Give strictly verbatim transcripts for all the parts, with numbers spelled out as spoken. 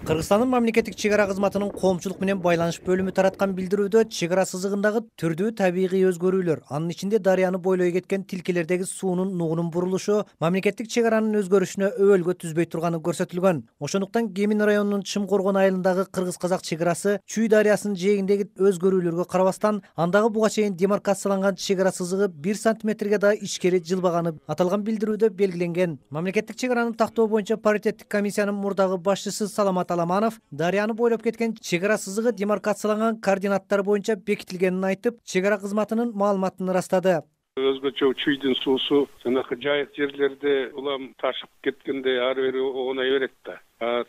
Кыргызстандын мамлекеттик чек ара кызматынын коомчулук менен байланыш бөлүмү тараткан билдирүүдө чек ара сызыгындагы түрдүү табигый өзгөрүүлөр, анын ичинде дарыяны бойлой кеткен тилкелердеги суунун нугунун бурулушу мамлекеттик чек аранын өзгөрүшүнө өбөлгө түзбөй турганы көрсөтүлгөн. Ошондуктан Кемин районунун Чымкоргон айылындагы кыргыз-казак чек арасы Чүй дарыясынын жээгиндеги өзгөрүүлөргө карабастан андагы буга чейин демаркацияланган чек ара сызыгы бир сантиметрге да ичкери жылбаганы аталган билдирүүдө белгиленген. Мамлекеттик чек араны тактоо боюнча паритеттик комиссиянын мурдагы башчысы Саламат Аламанов дарыяны бойлоп кеткен чек ара сызыгы демаркацияланган координаттар боюнча бекитилгенин айтып, чек ара кызматынын маалыматын ырастады. Өзгөчө Чүйдүн суусу жанагы жайык жерлерде улам ташып кеткенде ары бери оонай берет да.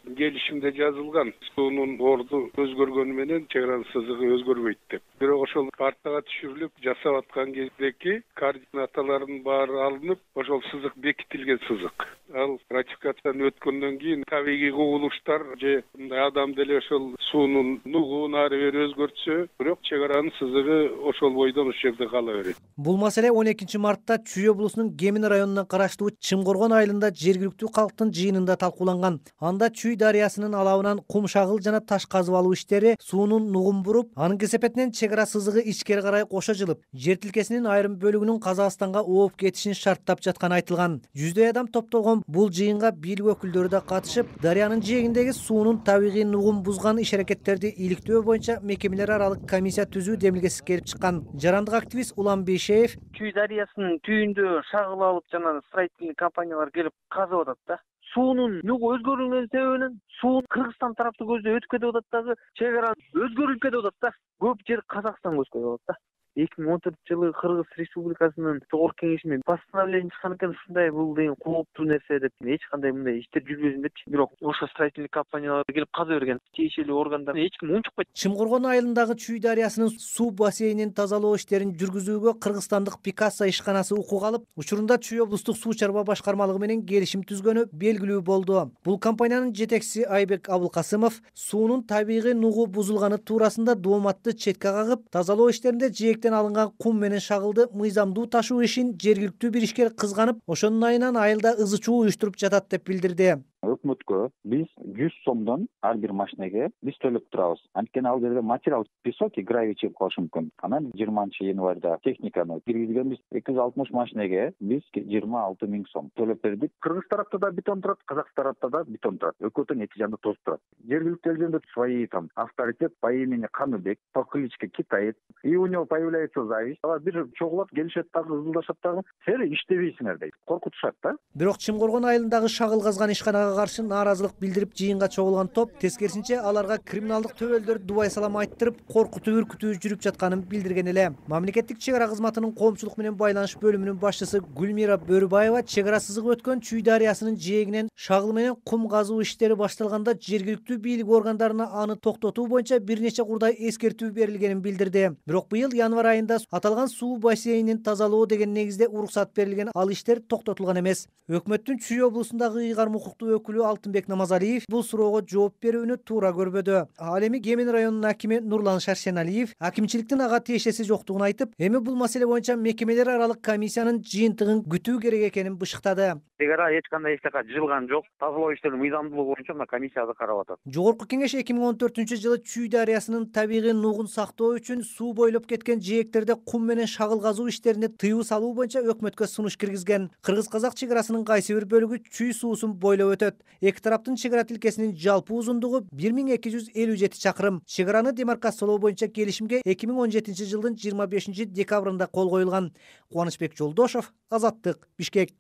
Келишимде жазылган суунун орду өзгөргөнү менен чек аранын сызыгы өзгөрбөйт деп. Бирок ошол картага түшүрүлүп жасап аткан кездеги координаталардын баары алынып, ошол сызык бекитилген сызык. Ал ратификациядан өткөндөн кийин табигый кубулуштар же мындай адам деле ошол суунун нугун ары бери өзгөртсө, бирок чек аранын сызыгы ошол бойдон ошол жерде кала берет. Бул маселе он экинчи мартта Чүй облусунун Кемин районуна караштуу Чымкоргон айылында жергиликтүү калктын жыйынында талкууланган. Анда Чүй дарыясынын алабынан кум шагыл жана таш казып алуу иштери суунун нугун буруп, анын кесепетинен чек ара сызыгы ичкери карай кошо жылып, жер тилкесинин айрым бөлүгүнүн Казакстанга ооп кетишин шарттап жатканы айтылган. Жүздөй адам топтолгон бул жыйынга бийлик өкүлдөрү да катышып, дарыянын жээгиндеги суунун табигый нугун бузган иш-аракеттерди иликтөө боюнча мекемелер аралык комиссия түзүү демилгеси келип чыккан. Жарандык активист Улам Бейшеев Чүй дарыясынын түйүндө шагыл алып жана строительный компаниялар келип казып атат да. Суунун нугу өзгөрүлгөн себебинен суу Кыргызстан тараптуу көздөй өтүп кетип атат дагы, чек ара өзгөрүлүп кетип атат да. Көп жер Казакстанга өтүп кетип атат да. эки миң он төртүнчү жылы Кыргыз Республикасынын жогорку кеңешимен постановление чыккан экен, ушундай бул деген кооптуу нерсе деп, эч кандай мындай иштер жүргүзүлбөйт депчи. Бирок ошо строительный компаниялар келип каза берген, тиешелүү органдар эч ким унчукпайт. Чымкоргон айылындагы Чүй дарыясынын суу бассейнин тазалоо иштерин жүргүзүүгө кыргызстандык Пикассо ишканасы укук алып, учурунда Чүй облустук суу чарба башкармалыгы менен келишим түзгөнү белгилүү болду. Бул компаниянын жетекчиси Айбек Абылкасымов суунун табигый нугу бузулганы туурасында дооматты четке кагып, тазалоо иштеринде жээктен алынган кум менен шагылды мыйзамдуу ташуу ишин жергиликтүү бир ишкер кызганып, ошонун айынан айылда ызы чуу уюштуруп жатат деп билдирди. Өкмөткө биз жүз сомдон ар бир машинеге биз төлөп турабыз. Анткени ал жерде материал песок и гравий чыгып калышы мүмкүн. Анан жыйырманчы январда техниканы киргизгенбиз. эки жүз алтымыш машинеге биз жыйырма алты миң сом төлөп бердик. Кыргыз тарапта да бетон турат, казак тарапта да бетон турат. Экөө тең эки жагында тосуп турат. Жергиликтүү элдерде свои там авторитет по имени Каныбек, по кличке Китаец. И у него появляется зависть. Алар бир чогулат, келишет дагы, ызылдашат дагы. Сен иштебейсиңер дейт. Коркутушат да. Бирок Чымкоргон айылындагы шагыл казган ишканага каршы нааразылык билдирип жыйынга чогулган топ тескерисинче аларга криминалдык төбөлдөр дубай салам айттырып, коркутуу үркүтүү жүрүп жатканын билдирген эле. Мамлекеттик чек ара кызматынын коомчулук менен байланыш бөлүмүнүн башчысы Гүлмира Бөрүбаева чек ара сызыгы өткөн Чүй дарыясынын жээгинен шагыл менен кум казуу иштери башталганда жергиликтүү бийлик органдарына аны токтотуу боюнча бир нече курдай эскертүү берилгенин билдирди. Бирок быйыл январь айында аталган суу бассейнин тазалоо деген негизде уруксат берилген, ал иштер токтотулган эмес. Өкмөттүн Чүй облусундагы ыйгарым укуктуу өкүлү Алтынбек Намазалиев бул суроого жооп берүүнү туура көрбөдү. Ал эми Кемин районунун акими Нурлан Шаршеналиев акимчиликтин ага тиешеси жоктугун айтып, эми бул маселе боюнча мекемелер аралык комиссиянын жыйынтыгын күтүү керек экенин бышыктады. Чек ара эч кандай эчтека жылган жок. Тазалоо иштеринин мыйзамдуулугу боюнча мына комиссияда карап атат. Жогорку кеңеш эки миң он төртүнчү жылы Чүй дарыясынын табигый нугун сактоо үчүн суу бойлоп кеткен жээктерде кум менен шагыл казуу иштерине тыюу салуу боюнча өкмөткө сунуш киргизген. Кыргыз-казак чек арасынын кайсы бир бөлүгү Чүй суусун бойлоп өтөт. Эки тараптын чек ара тилкесинин жалпы узундугу бир миң эки жүз элүү жети чакырым. Чек араны демаркациялоо боюнча келишимге эки миң он жетинчи жылдын жыйырма бешинчи декабрында кол коюлган. Кубанычбек Жолдошов, Азаттык, Бишкек.